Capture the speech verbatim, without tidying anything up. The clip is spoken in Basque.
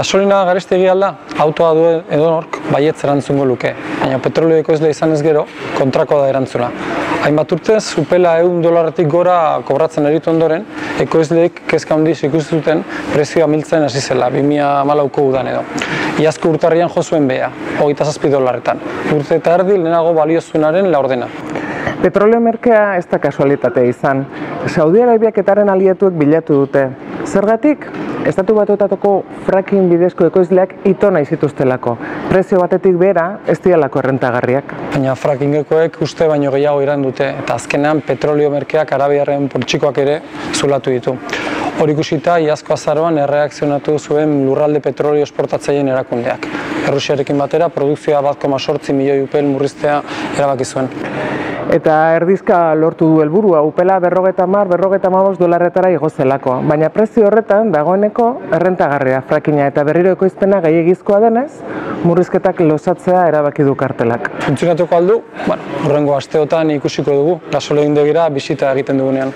Gasolina garestegi alda, autoa duen edonork baietz erantzungo luke, baina petrolio ekoizle izan ez gero, kontrakoa da erantzuna. Hainbat urtez, upela ehun dolarretik gora kobratzen eritu ondoren, ekoizleek kezka handiz ikusi zuten prezioa miltzen hasi zela, bi mila hamalauko udan edo. Iazko urtarrian jo zuen behea, hogeita zazpi dolarretan. Urte eta erdi lehenago baliozuenaren laurdena. Petrolio merkea ez da kasualitatea izan. Saudi Arabiaketaren alietuek bilatu dute. Zergatik? Estatu Batuetako fracking bidezko ekoizleak ito nahi zituztelako. Prezio batetik behera ez dialako errentagarriak. Baina frackingekoek uste baino gehiago iran dute, eta azkenean petrolio merkeak arabiarren poltsikoak ere zulatu ditu. Hori ikusita, iazko azaroan erreakzionatu zuen lurralde petrolio esportatzaileen erakundeak. Errusiarekin batera, produkzioa bat koma zortzi milioi upel murriztea erabaki zuen. Eta erdizka lortu du helburua, upela berrogeta hamar, berrogeta hamabost dolarretara igo zelako. Baina prezio horretan dagoeneko errentagarria frackinga eta berriro ekoizpena gehiegizkoa denez, murrizketak losatzea erabaki du kartelak. Funtzionatuko aldu, bueno, hurrengo asteotan ikusiko dugu, gasolindegira bisita egiten dugunean.